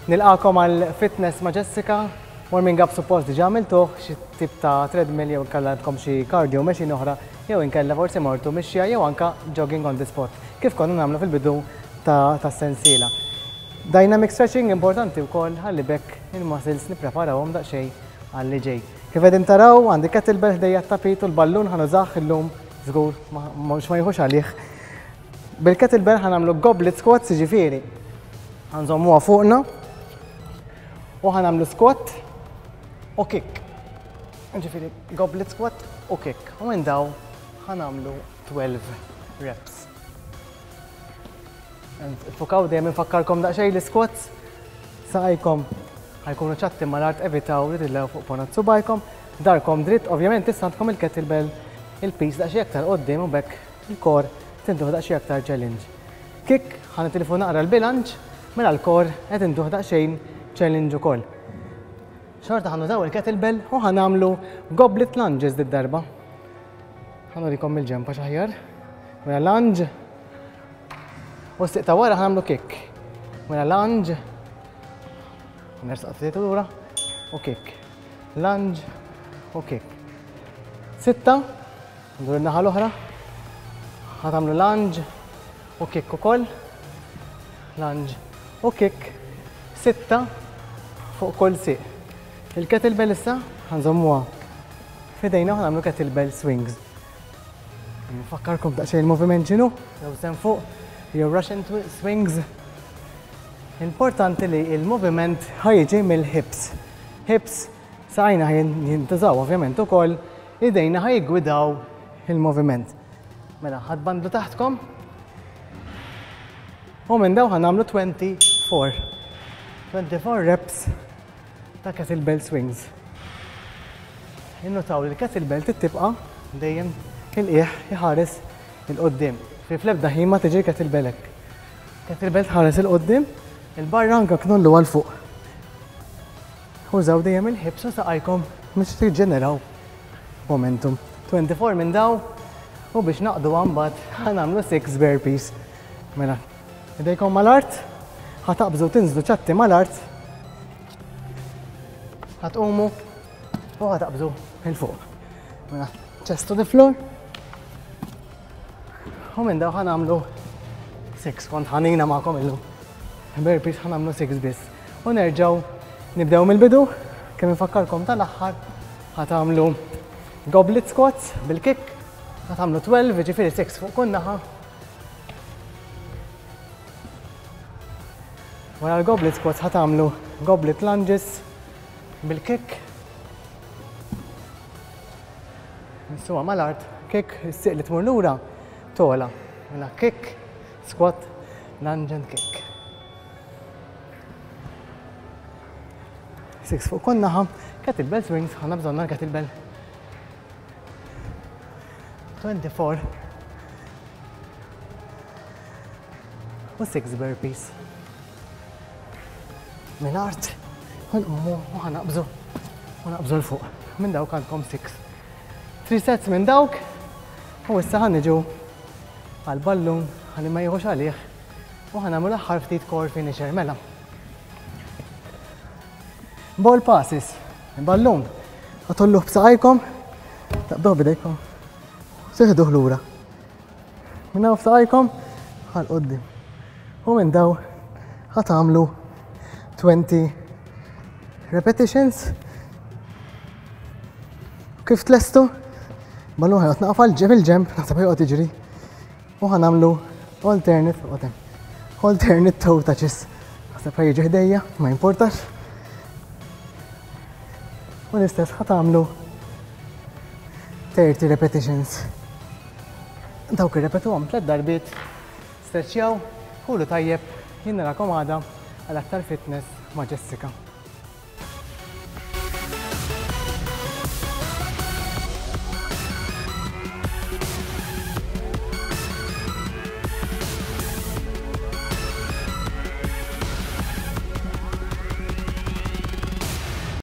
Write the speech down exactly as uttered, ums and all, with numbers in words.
Nilqagħkom għal Fitness ma' Jessica. Warming up suppost diġà għamiltuh, xi tip ta' treadmill jew inkella għandkom xi cardio machine oħra, jew inkella forsi mortu mixja jew anka jogging on the spot, kif konna nagħmlu fil-bidu ta' tas-sensiela. Dynamic stretching importanti wkoll ħalli bekk il-muscles nippreparawhom daqsxejn għal li ġej. Kif qegħdin taraw, għandi kettlebell ħdejja, t-tapit u l-ballun ħa nużah illum żgur mhux ma jieħux għalih. Bil-kettlebell ħa nagħmlu goblet squats, jiġifieri ħa nżommuha fuqna u ħa nagħmlu squat u kick. Ġifieri goblet squat u kick. U minn daw ħa nagħmlu tnax reps. Fukaw dejjem, infakkarkom daqsxejn li squats saqajkom ħa jkunu ċatti mal-art, evitaw li tilgħu fuq ponot subgħajkom, daharkom dritt, ovvjament issa għandkom il-kettlebell, il-piż daqsxejn aktar quddiem u bekk il-core tintuh daqsxejn aktar challenge. Kick, ħa nitilfu naqra l-bilanċ, mela l-core qed intuh daqsxejn challenge ukoll. Xorta ħa nużaw il-kettlebell u ħa nagħmlu goblet lunges did-darba. Ħa nurikom mill-ġenb għax aħjar. Mela lunge u s ta' wara ħa nagħmlu kick. Mela lunge, nersaq ftit lura u kick. Lunge u kick. Sitta, ndur in-naħa l-oħra. Ħa tagħmlu lunge u kick ukoll. Lunge u kick. Sitta fuq kull sieq. Il-kettlebell issa ħa nżommuha f'idejna u ħa nagħmlu kettlebell swings. Nfakkarkom daqsxejn il-moviment x'inhu, jew s'hemm fuq, jew Russian swings. Importanti li il-moviment ħa jiġi mill-hips. Hips, saqajna ħa jintużaw ovvjament ukoll, idejna ħa jiggwidaw il-moviment. Mela, ħa tbandlu taħtkom. U minn daw ħa nagħmlu twenty-four. twenty-four reps ta' kettlebell swings. Innutaw li l-kettlebell tibqa' dejjem il-qiegħ iħares 'il quddiem. Fi fl-ebda ħin ma tiġi kettlebell hekk. Kettlebell tħares 'il quddiem, il-barra, anka knollu għal fuq. Użaw dejjem il-hips u saqajkom biex tiġġeneraw momentum. twenty-four minn daw u biex naqdu mbagħad ħa nagħmlu six burpees. Mela, idejkom mal-art, ħa taqbżu, tinżlu ċatti mal-art, ħa tqumu u ħa taqbżu 'il fuq. Mela, chest to the floor. U minn daw ħa nagħmlu sitta, kont ħanina magħkom illum. Burpees ħa nagħmlu sitta biss. U nerġaw nibdew mill-bidu, kemm infakkarkom tal-aħħar, ħa tagħmlu goblet squats bil-kick, ħa tagħmlu tnax, ġifieri sitta fuq kull naħa. Wara l-goblet squats ħa tagħmlu goblet lunges bil-kick. Nissuha mal-art, kick, is-sieq li tmur lura, togħla. Mela kick, squat, lunge and kick. Six fuq kull naħa, kettlebell swings, għandna bżonna l-kettlebell. twenty-four u six burpees. Mill-art, nqumu u ħa naqbżu, u naqbżu 'l fuq. Minn dawk għandkom six. Three sets minn dawk, u issa ħa niġu għal-ballun ħalli ma jieħux għalih u ħa nagħmlu l-aħħar ftit core finisher, mela. Ball passes, il-ballun, ħa tgħolluh b'saqajkom, taqbduh b'idejkom, teħduh lura. Minn hawn f'saqajkom għal quddiem. U minn daw ħa tagħmlu twenty repetitions. Kif tlestu, ballun ħa joqgħod naqaf għal ġenb il-ġenb, naħseb ħa joqgħod jiġri. U ħa nagħmlu alternate, alternate toe touches. Naħseb ħa jiġi ħdejja, ma jimportax. U l-istess ħa tagħmlu thirty repetitions. Dawk irrepetuhom tliet darbiet, stretchjaw, kulu tajjeb, jien narakom għada għal aktar Fitness ma' Jessica.